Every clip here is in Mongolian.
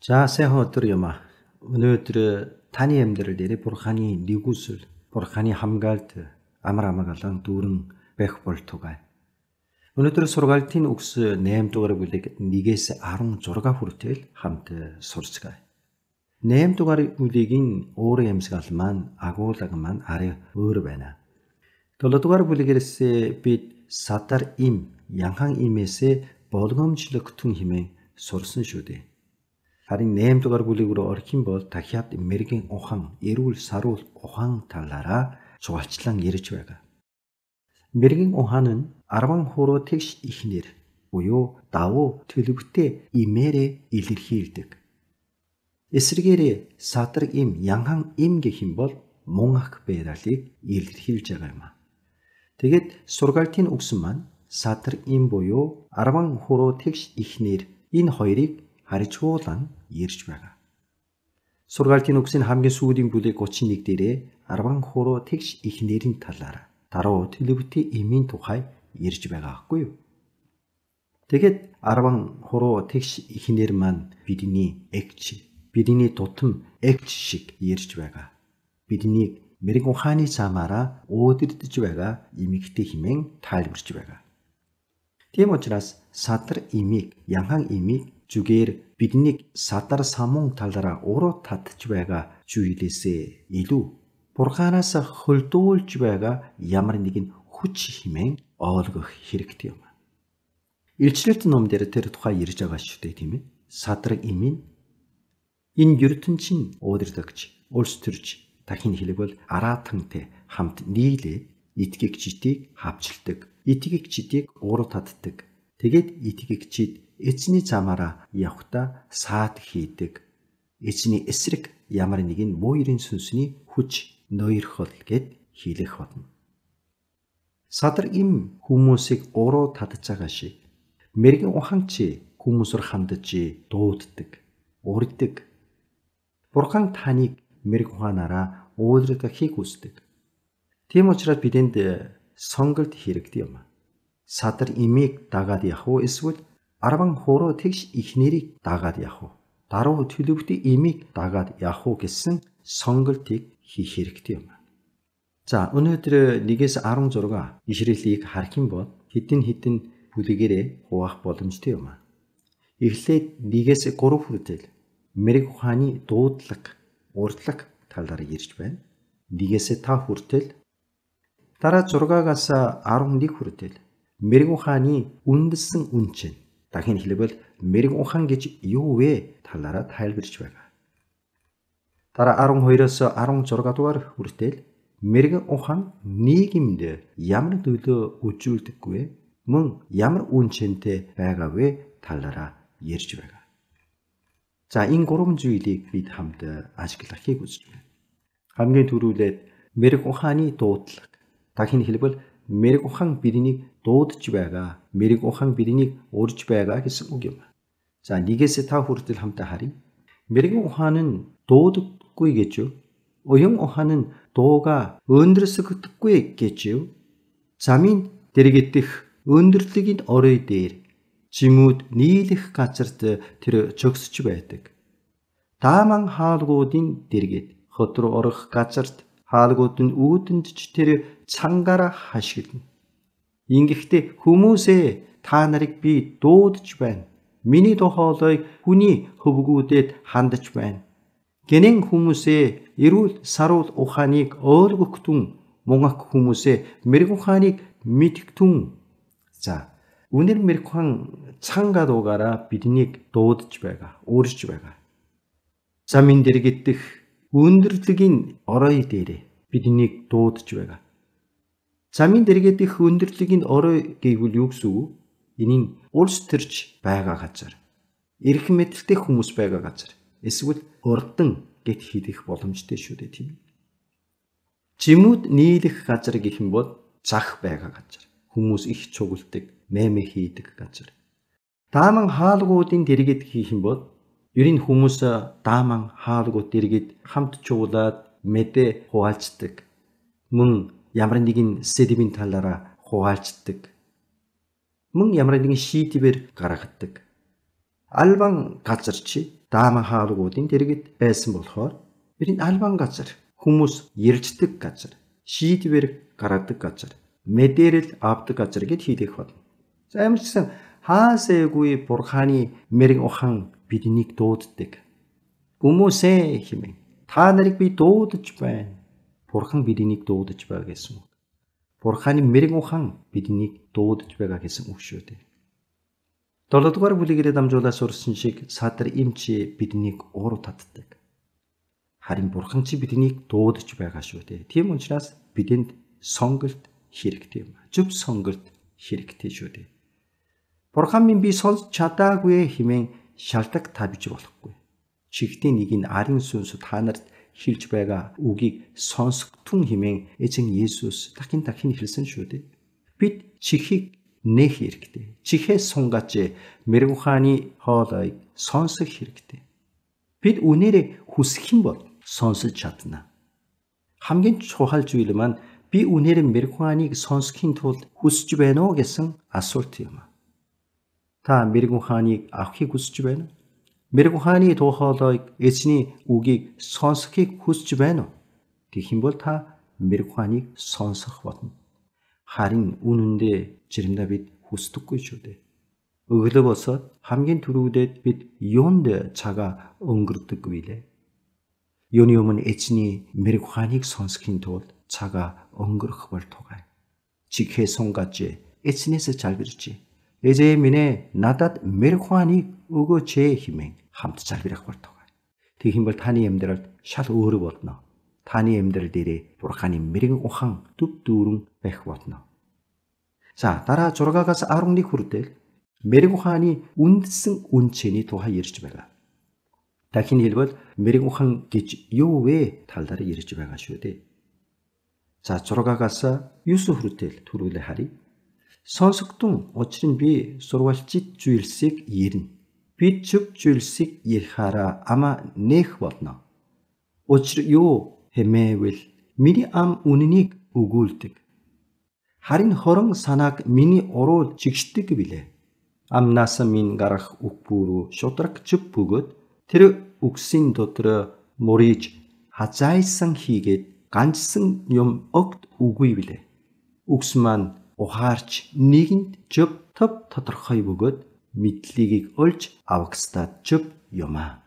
За сайхан өдөр юм аа. Өнөөдөр таны амьдрал дээр Бурханы нэгүсэл, Бурханы хамгаалт амар амгалан дүүрэн байх болтугай. Өнөөдөр сургаалтын үгс 8 дугаар бүлэг 1-ээс 16 хүртэл хамт сурцгаая. 8 дугаар бүлгийн өөрийн амьсгал маань агуулга маань арай өөр байна. 7 дугаар бүлгээс бид садар им, янхан имээс болгоомжлогтун хэмээн сурсан шүү дээ. Харин 8 дугаар бүлэг рүү орох юм бол дахиад мэргийн ухаан, эрүүл саруул ухаан талаараа чухалчлан ярьж байгаа. Мэргийн ухаан нь 10 хуруу тэгш ихнэр буюу давуу төлөвтэй имээрээ илэрхийлдэг. Эсвэргээр садар им, янхан им гэх юм бол мөн ах байдлыг илэрхийлж байгаа юм. Тэгээд сургаалтын үгс маань садар им буюу 10 хуруу тэгш ихнэр энэ хоёрыг харьцуулан ярьж байгаа. Сургаалтын үгсийн хамгийн сүүлийн бүлэг 31 дээрээ 10 хуруу тэгш ихнэрийн талаар даруй төлөвтэй эмийн тухай ярьж байгаа байхгүй юу? Тэгэд 10 хуруу тэгш ихнэр маань бидний эгч, бидний тутам эгч шиг ярьж байгаа. Биднийг мэрэг ухааны замаараа уудирдах байгаа эмэгтэй хэмээн тайлбарж байгаа. Тийм учраас садар имийг, янхан имийг зүгээр биднийг садар самун талаараа уруу татж байгаа зүйлээсээ илүү Бурханаас хөлдүүлж байгаа ямар нэгэн хүч хэмээн ойлгох хэрэгтэй юм. Илчлэлт ном дээр тэр тухай ярьж байгаа шүү дээ, тийм ээ. Садар имийн энэ ертөнцийн удирдагч, улс төрч дахин хэлбэл араатантай хамт нийлээд итгэгчдийг хавчилдаг, итгэгчдийг уруу татдаг. Тэгээд итгэгчид эзний замаараа явхдаа саад хийдэг. Эзний эсрэг ямар нэгэн муурын сүнсний хүч ноёрхол гэд хэлэх болно. Садар им хүмүүсийг уруу татж байгаа шиг мэрэгэн ухаанч хүмүүсээр хандаж дууддаг, урддаг. Бурхан таныг мэрэг ухаанаараа уулзрахыг хүсдэг. Тийм учраас бидэнд сонголт хэрэгтэй юм. Садар имийг дагаад явах уу эсвэл 10 хуруу тэгш ихнэрийг дагаад явах уу? Даруй төлөвтэй имийг дагаад явах уу гэсэн сонголтыг хийх хэрэгтэй юм. За өнөөдөр 1-ээс 16 ишрэлийг харах юм бол хэдэн бүлэгээрээ хуваах боломжтой юм. Эхлээд 1-ээс 3 хүртэл мэрэг ухааны дуудлага, урдлага талаар ярьж байна. 1-ээс 5 хүртэл дараа 6-аас 11 хүртэл мэрэг ухааны үндэслэн үнчин, дахин хэлбэл мэрэг ухаан гэж юу вэ талаараа тайлбарж байгаа. Дараа 12-оос 16 дугаар хүртэл мэрэг ухаан нийгэмд ямар нөлөө үзүүлдэггүй вэ? Мөн ямар үнцэнтэй байгаа вэ талаараа ярьж байгаа. За энэ гурван зүйлийг бид хамт ажиглахыг хүсэж байна. Хамгийн түрүүлээд мэрэг ухааны дуудлага, дахин хэлбэл мэрэг ухаан биднийг дуудаж байгаа, мэрэг ухаан биднийг урьж байгаа гэсэн үг юм. За 1-ээс 5 хүртэл хамтаа харъя. Мэрэг ухаан нь дууддаггүй гэж юу? Уян ухаан нь дууга өндөрлсөгдөхгүй гэж юу? Замын дэргэдэх өндөрлөгийн орой дээр жимүүд нийлэх газарт тэр зогсож байдаг. Тааман хаалгуудын дэргэд хот руу орох газарт хаалгууд нь үүдэнд ч тэр цангаараа хашгирна. Ингэхдээ хүмүүсээ та нарыг би дуудаж байна. Миний дуу хоолойг хүний хөвгүүдэд хандаж байна. Гэнэн хүмүүсээ эрүүл саруул ухааныг ойлгогтун, мөн ах хүмүүсээ мэрэг ухааныг мэдгтун. За үнэр мэрэг ухаан цангаа дуугаараа биднийг дуудаж байгаа, урьж байгаа. Замын дэргэдэх өндөрлөгийн орой дээр биднийг дуудаж байгаа. Замын дэргэдэх өндөрлөгийн орой гэвэл юу гэсэн үг? Энэ нь улс төрч байгаа газар, эрх мэдэлтэй хүмүүс байгаа газар, эсвэл урдан гэд хэлэх боломжтой шүү дээ, тийм ээ. Жимүүд нийлэх газар гэх юм бол зах байгаа газар, хүмүүс их цугулдаг, мэмэ хийдэг газар. Дааман хаалгуудын дэргэд гэх юм бол ер нь хүмүүс дааман хаалгууд дэргэд хамт чуулаад мэдээ хуваалцдаг. Мөн ямар нэгэн сэдвийн талаараа хуваалцдаг. Мөн ямар нэгэн шийдвэр гаргадаг. Албан газар чи дааман хаалгуудын дэргэд байсан болохоор бидний албан газар, хүмүүс ярьждаг газар, шийдвэр гаргадаг газар, мэдээлэл авдаг газар гэд хийх болно. За ямар ч гэсэн хаасайгүй Бурханы мэрэгэн ухаан биднийг дууддаг. Хүмүүсээ хэмээн та нарыг би дуудаж байна. Бурхан биднийг дуудаж байгаа гэсэн үг. Бурханы мэрэгэн ухаан биднийг дуудаж байгаа гэсэн үг шүү дээ. 7-р бүлэгээрээ дамжуулаад сурсан шиг Садар эмчи биднийг уур татдаг. Харин Бурхан чи биднийг дуудаж байгаа шүү дээ. Тийм учраас бидэнд сонголт хэрэгтэй юм. Зөв сонголт хэрэгтэй шүү дээ. Бурхан минь би сонсч чадаагүй хэмээн шалтак тавьж болохгүй. Чихтийн нэг нь арын сүнс та нарт хэлж байгаа үгийг сонсготун хэмээн эзэн Есүс дахин хэлсэн шүү дээ. Бид чихийг нэх хэрэгтэй. Чихээс сунгач мэрэгэн ухааны хоолойг сонсох хэрэгтэй. Бид үнээрээ хүсэх юм бол сонсож чадна. Хамгийн чухал зүйл маань би үнээрээ мэрэгэн ухааныг сонсохын тулд хүсэж байна уу гэсэн асуулт юм. Та мэрэгэн ухааныг авахыг хүсэж байна уу? Мэрэгэн ухааны дуу хоолойг эзний үгийг сонсохыг хүсэж байна уу? Гэх юм бол та мэрэгэн ухааныг сонсох болно. Харин үнэндээ жирэндээ бид хүсдэггүй шүү дээ. Өглөө босоод хамгийн түрүүдэд бид юунд цагаа өнгөрдөггүй лээ. Юуны өмнө эзний мэрэгэн ухааныг сонсохын тулд цагаа өнгөрөх бол тугай. Чихээ сунгаж эзнээс залбирч эзэн минь надад мэрэгэн ухааныг өгөөч хэмээн хамт залбирах бол тугай. Тэгэх юм бол таны амьдралд шал өөр болно. Таны амьдрал дээрээ Бурханы мэрэгэн ухаан төв дүүрэн байх болно. За дараа 6-аас 11 хүртэл мэрэгэн ухааны үндсэн үнцний тухай ярьж байгаа. Дахин хэлбэл мэрэгэн ухаан гэж юу вэ талаар ярьж байгаа шүү дээ. За 6-аас 9 хүртэл түрүүлээ харъя. Сонсогдсон учир нь би сурвалжит зүйлсийг ярина. Би зөв зүйлсийг ярихаараа ама нээх болно. Учир юу хэмээвэл миний ам үнэнийг өгүүлдэг. Харин хорон санааг миний уруу жигшдэг билээ. Амнаас минь гарах үг бүрүү шудраг зөв бөгөөд тэр үгсийн дотор мөрийж хазайсан хийгээд ганцсан юм огт үгүй билээ. Үгс маань ухаарч нэгэнд зөв төв тодорхой бөгөөд мэдлийг олж авахстад зөв юмаа.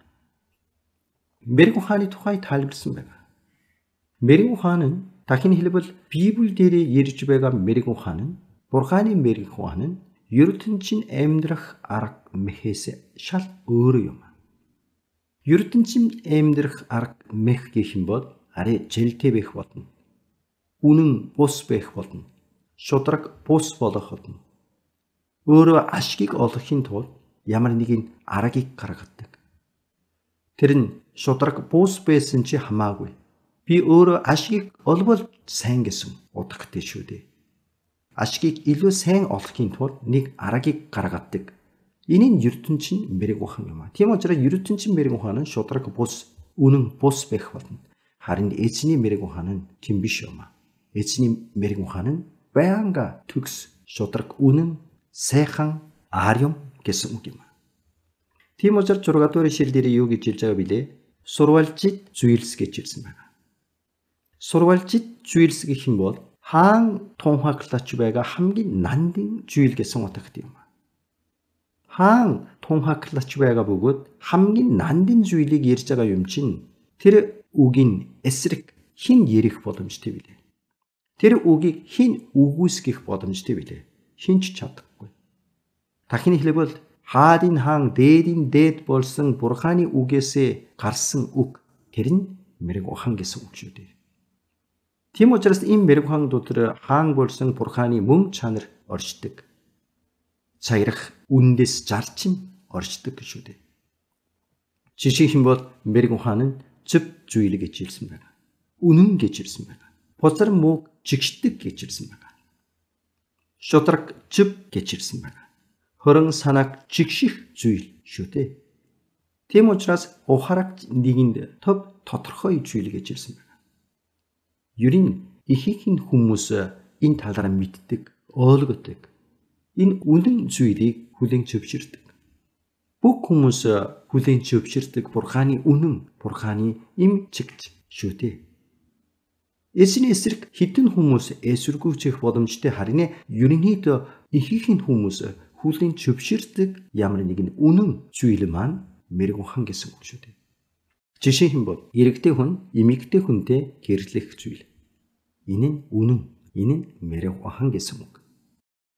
Мэрэгэн ухааны тухай тайлбарсан байна. Мэрэгэн ухаан нь дахин хэлбэл Библи дээр ярьж байгаа мэрэгэн ухаан нь Бурханы мэрэгэн ухаан нь ертөнцийн амьдрах арга мэхээс шал өөр юм. ертөнцийн амьдрах арга мэх гэх юм бол арай жэлтэй байх болно. Үнэн бус байх болно. Шудраг бус болох болно. Өөрөө ашгийг олохын тулд ямар нэгэн аргыг гаргадаг. Тэр нь шудраг бус байсан чи хамаагүй. Би өөрөө ашгийг олбол сайн гэсэн утгатай шүү дээ. Ашгийг илүү сайн олохын тулд нэг аргыг гаргадаг. Энэ нь ертөнцийн мэрэгэн ухаан юм. Тийм учраас ертөнцийн мэрэгэн ухаан нь шудраг бус, үнэн бус байх болно. Харин эзний мэрэгэн ухаан нь тийм биш юм. Эзний мэрэгэн ухаан нь байнга төгс, шудраг, үнэн, сайхан, арим гэсэн үг юм. Тийм учраас 6 дугаар ишлэл дээр юу гэж хэлж байгаа билээ? Сурвалжит зүйлс гэж хэлсэн байна. Сурвалжит зүйлс гэх юм бол хаан тунхаглаж байгаа хамгийн нандин зүйл гэсэн утгатай юм. Хаан тунхаглаж байгаа бөгөөд хамгийн нандин зүйлийг ярьж байгаа юм чинь тэр үгийн эсрэг хэн ярих боломжтой билээ. Тэр үгийг хэн үгүйсгэх боломжтой билээ. Хэн ч чадахгүй. Дахин хэлбэл хаадын хаан дээдийн дээд болсон Бурханы үгээсээ гарсан үг тэр нь мэрэгэн ухаан гэсэн үг шүү дээ. Тийм учраас энэ мэрэгэн ухаан дотор хаан болсон Бурханы мөн чанар оршдог. Цагирах үндэс зарчим оршдог шүү дээ. Жишээ юм бол мэрэгэн ухаан нь зөв зүйл гэж хэлсэн байна. Үнэн гэж хэлсэн байна. Бузар мөг жигшдэг гэж хэлсэн байна. Шудраг зөв гэж хэлсэн байна. Хорон санааг жигших зүйл шүү дээ. Тийм учраас ухаарагч нэгэнд төв тодорхой зүйл гэж хэлсэн байна. Ерийн ихэнх хүмүүс энэ талаараа мэддэг, ойлгодог. Энэ үнэн зүйлийг хүлээн зөвшөөрдөг. бүх хүмүүс хүлээн зөвшөөрдөг Бурханы үнэн, Бурханы им чигт шүү дээ. Эзний эсрэг хідэн хүмүүс эсвэргүүцэх боломжтой харин ерөнхийдөө ихэнх хүмүүс хүлээн зөвшөөрдөг ямар нэгэн үнэн зүйл маань мэрэгэн ухан гэсэн үг шүү дээ. Жишээ нь бол эрэгтэй хүн эмэгтэй хүнтэй гэрлэх зүйл. Энэ нь үнэн, энэ нь мэрэгэн ухан гэсэн үг.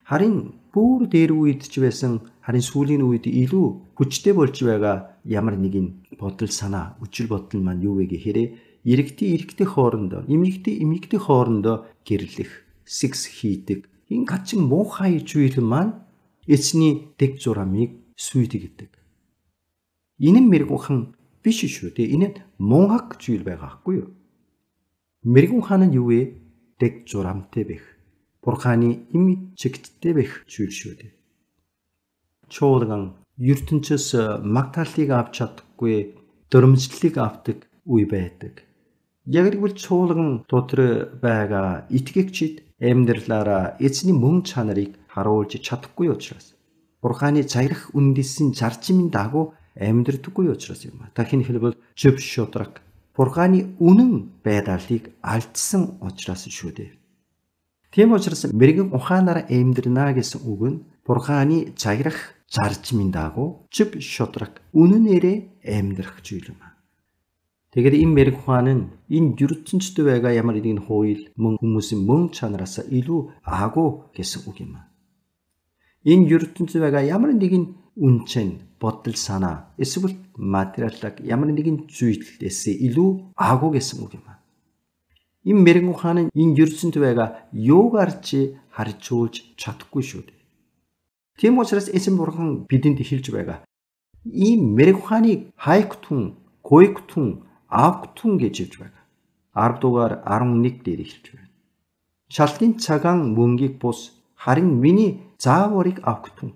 Харин бүр дээр үед ч байсан харин сүүлийн үед илүү хүчтэй болж байгаа ямар нэгэн бодол санаа, үчир бодол маань юу вэ гэхээр эрэгтэй хоорондоо, эмэгтэй хоорондоо гэрлэх, секс хийдэг. Энэ гачин муухай зүйл маань эцний дэг зурамыг сүйдэгдэг. Энэ мэрэгэн ухан биш шүү дээ. Энэ мунхаг зүйл байгаа хгүй юу? Мэрэгэн ухан нь юу вэ? Дэг зурамтай байх. Бурханы им чигттэй байх зүйл шүү дээ. Чуулган ертөнцөөс магтаалыг авч чадахгүй, дөрмжлэлийг авдаг үе байдаг. Яг л чуулган дотор байгаа итгэгчид амьдралаараа эзний мөн чанарыг харуулж чадахгүй учраас Бурханы цагирах үндэсний зарчмын дагуу амьдрдаггүй учраас юм. Дахин хэлбэл зөв шудраг Бурханы үнэн байдаалыг алдсан учраас шүү дээ. Тийм учраас мэрэгэн ухаанаар амьдрна гэсэн үг нь Бурханы цагирах зарчмын дагуу зөв шудраг үнэнээрээ амьдрах зүйл юм. Тэгэхээр энэ мэрэгэн ухаан нь энэ ертөнцид байгаа ямар нэгэн хууль мөн хүмүүсийн мөн чанараас илүү агуу гэсэн үг юм. Энэ ертөнцид байгаа ямар нэгэн үнцэн, бодол санаа, эсвэл материалыг ямар нэгэн зүйлээс илүү агуу гэсэн үг юм. Энэ мэрэгэн ухаан нь энэ ертөнцид байгаа юугаар ч харьцуулж чадахгүй шүү дээ. Тийм учраас эзэн бурхан бидэнд хэлж байгаа. Ийм мэрэгэн ухааныг хайктун, гойктун, авктун гэж хэлж байгаа. 10 дугаар 11 дээр хэлж байна. Шалтгийн цагаан мөнгийг бус харин миний зааварыг авктун.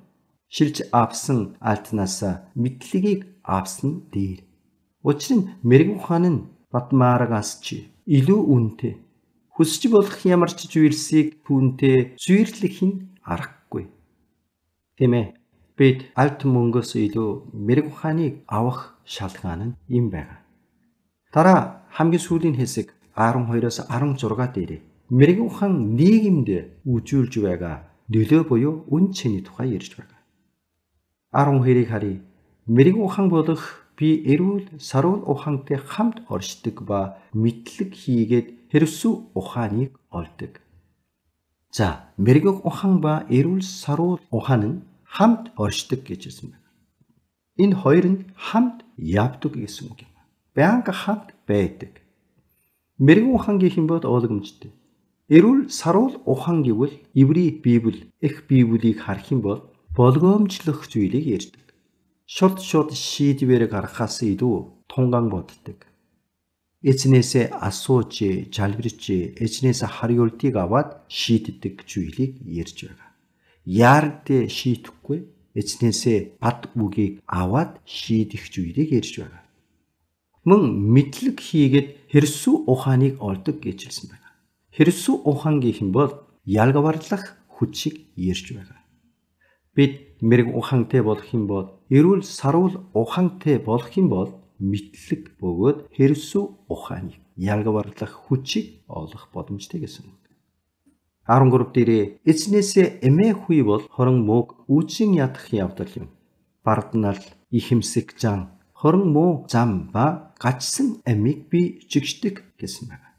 Шилж авсан альтнаас мэдлэгийг авсан дээр. Учир нь мэрэгэн ухаан нь Батмаарагаас ч илүү үнэтэй. Хүсч болох ямар ч зүйлсийг түүнтэй зүйрлэх нь аргагүй. Тийм ээ. Бид альт мөнгөөс илүү мэрэгэн ухааныг авах шалтгаан нь юм байна. Дараа хамгийн сүүлийн хэсэг 12-оос 16 дээр мэрэгэн ухаан нийгэмд үжүүлж байгаа нөлөө буюу үн цэний тухай ярьж байгаа. 12-ыг харъя. Мэрэгэн ухаан болох би эрүүл саруул ухаантай хамт оршдог ба мэдлэг хийгээд хэрвсүү ухааныг олдог. За, мэрэгэн ухаан ба эрүүл саруул ухаан нь хамт оршдог гэж хэлсэн байна. Энэ хоёр нь хамт явдаг гэсэн үг юм. Байнга хамт байдаг. Мэрэгэн ухаан гэх юм бол ойлгомжтой. Эрүүл саруул ухаан гэвэл Иври Библи, их Библийг харах юм бол болгоомжлох зүйлийг ярьдаг. Шууд шийдвэр гаргахаас илүү тунгаан боддог. Эзнээсээ асууж, жалбирч, эзнээс хариултыг аваад шийддэг зүйлийг ярьж байгаа. Яард шийдэхгүй, эзнээсээ бат үгийг аваад шийдэх зүйлийг ярьж байгаа. Мөн мэдлэг хийгээд хэрсүү ухааныг олдог гэж хэлсэн байна. Хэрсүү ухаан гэх юм бол ялгаварлах хүчийг ярьж байгаа. Бид мэрэгэн ухаантай болох юм бол эрүүл саруул ухаантай болох юм бол мэдлэг бөгөөд хэрсүү ухааныг ялгаварлах хүчийг олох боломжтой гэсэн үг. 13 дээр эзнээсээ эмээ хүй бол хорон мууг үүчин ядах явдал юм. Барднал, ихэмсэг зан, хорон муу зам ба гачсан амийг би жигшдэг гэсэн байна.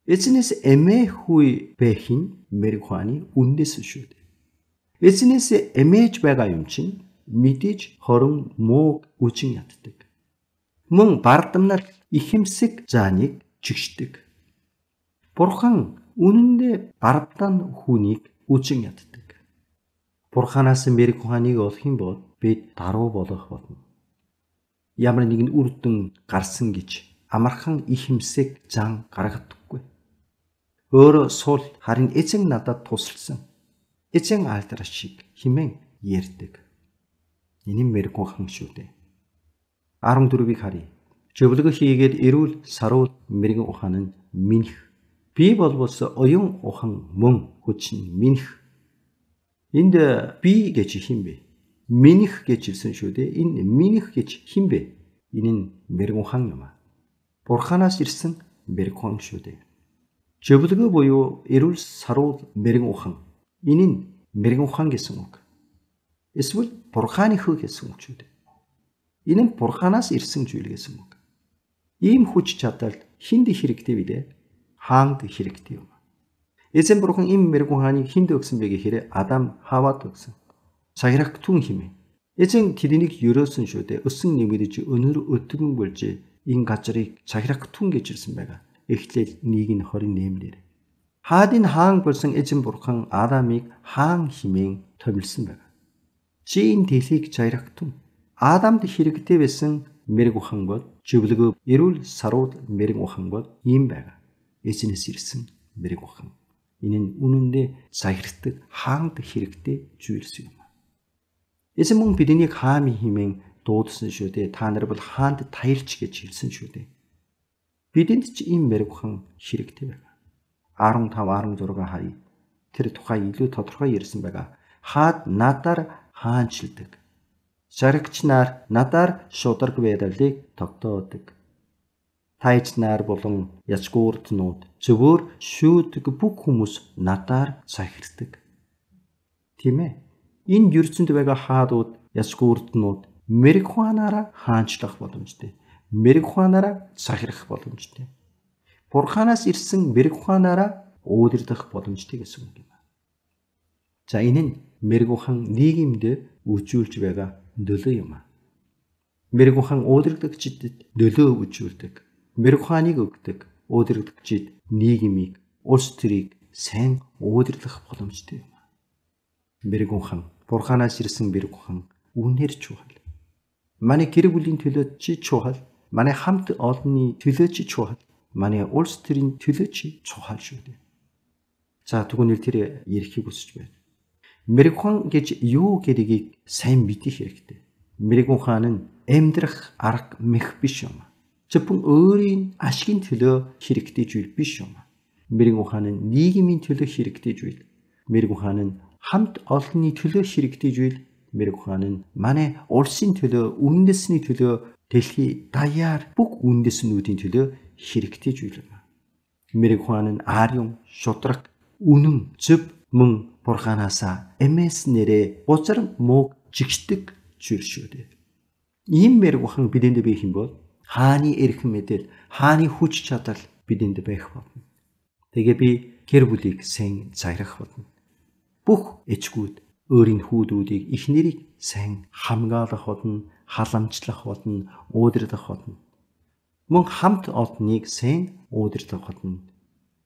Эзнээс эмээ хүй байх нь мэрэгэн ухааны үндэс шүү дээ. Эзнээс эмээж байгаа юм чинь мэдээж хорон мууг үчин яддаг. Мөн бардамнал ихэмсэг зааныг жигшдэг. Бурхан үнэндээ бардам хүнийг үчин яддаг. Бурханаас мэрэгэн ухааныг олох юм бол бид даруй болох болно. Ямар нэгэн үр дүн гарсан гэж амархан ихэмсэг зан гаргадаггүй. Өөрөө сул харин эзэн надад тусалсан. Эзэн алдарч шиг химэн ярьдаг. Энэ мэрэгэн ухаан шүү дээ. 14-ийг харъя. Зөвлөгөө хийгээд эрүүл саруул мэрэгэн ухаан нь минь. Би болбос оюун ухаан мөн хүчин минь. Энд би гэж хэм бэ? миних гэж хэлсэн шүү дээ. Энэ миних гэж хэн бэ? Энэ нь Мэрэгүхан юм аа. Бурханаас ирсэн Мэрэгүхан шүү дээ. Зөвлөгөө буюу эрүүл сарууд Мэрэгүхан. Энэ нь Мэрэгүхан гэсэн үг. Эсвэл Бурханы хөө гэсэн үг шүү дээ. Энэ нь Бурханаас ирсэн зүйл гэсэн үг. Ийм хүч чадал хинд хэрэгтэй билээ? Хаанд хэрэгтэй юм. Эзэн Бурхан ийм Мэрэгүханыг хинд өгсөн бэ гэхээр Адам Хавад өгсөн. Цагирагтун хэмээн. Эзэн тэднийг ерөөсөн шүү дээ. Өсөн нэмэгдэж өнөр өтгөн болж энэ газрыг цагирагтун гэж ирсэн байгаа. Эхлэл 1:28-ээр. Хаадын хаан болсон эзэн Бурхан Адамыг хаан хэмээн томилсон байна. Чи энэ дэлхийг цагирагтун. Адамд хэрэгтэй байсан Мэрэгүхан бол зөвлөгөө эрүүл сарууд Мэрэгүхан бол ийм байгаа. Эзнээс ирсэн Мэрэгүхан. Энэ нь үнэндээ цагирагтдаг хаанд хэрэгтэй зүйлс юм. Эзэн мөн биднийг хаан хэмээн дуудсан шүү дээ. Та нар бол хаанд таялж гэж хэлсэн шүү дээ. Бидэнд ч ийм Мэрэгүхан хэрэгтэй байна. 15-16 харъя. Тэр тухай илүү тодорхой ярьсан байгаа. Хаад надаар хаанчилдаг. Шарагч нар надаар шударга байдалыг тогтоодог. Тайч нар болон ячгууртнууд зөвөр шүүдэг бүх хүмүүс надаар цагирдаг. Тийм ээ. Энэ ертөнд байгаа хаадууд, ячгууртнууд Мэрэгүханаараа хаанчлах боломжтой. Мэрэгүханаараа цагирах боломжтой. Бурханаас ирсэн Мэрэгүханаараа уудирдах боломжтой гэсэн үг юм. За энэ нь Мэрэгүхан нийгэмд үжүүлж байгаа нөлөө юм. Мэрэгүхан уудирдагчдад нөлөө үзүүлдэг. Мэрэгүханыг өгдөг. Уудирдагчид нийгмийг, улс төрийг сайн уудирлах боломжтой юм. Мэрэгүхан, Бурханаас ирсэн Мэрэгүхан үнээр чухал. Манай гэр бүлийн төлөө чи чухал. Манай хамт олонны төлөө чи чухал. Манай улс төрийн төлөө чи чухал шүү дээ. За тэгвэл тэр ярихыг хүсэж байна. Мэрэгүхан гэж юу гэдгийг сайн мэдэх хэрэгтэй. Мэрэгүхан нь амьдрах арга мэх биш юм. Зөвхөн өөрийн ашигын төлөө хэрэгтэй зүйл биш юм. Мэрэгүхан нь нийгмийн төлөө хэрэгтэй зүйл. Мэрэгүхан нь хамт олонны төлөө хэрэгтэй зүйл. Мэрэгүхан нь манай улсын төлөө, үндэсний төлөө, дэлхий даяар бүх үндэснүүдийн төлөө хэрэгтэй зүйл юм. Мэрэгүхан нь ариун, шудраг, үнэн, зөв мөн Бурханаасаа эмээс нэрээ бузар мууг жигшдэг зүйл шүү дээ. Ийм Мэрэгүхан бидэнд байх юм бол хааны эрх мэдэл, хааны хүч чадал бидэнд байх болно. Тэгээ би гэр бүлийг сайн цагирах болно. Бүх эцгүүд өөрийн хүүдүүдийг, эхнэрийг сайн хамгаалах болно, халамжлах болно, уудирдах болно. Мөн хамт олонныг сайн уудирдах болно.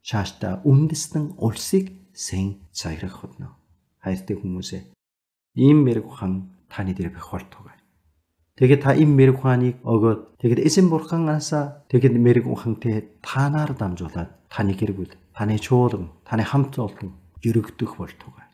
Цаашдаа үндэстэн улсыг сайн цагирах болно. Хайртай хүмүүсээ, ийм Мэрэгүхан таны дээр байх болтугай. Тэгээд та ийм Мэрэгүханыг өгөөд, тэгээд эзэн Бурханаасаа тэгээд Мэрэгүхантэй танаар дамжуулаад таны гэр бүл, таны чуулган, таны хамт олон өргөдөх болтугай.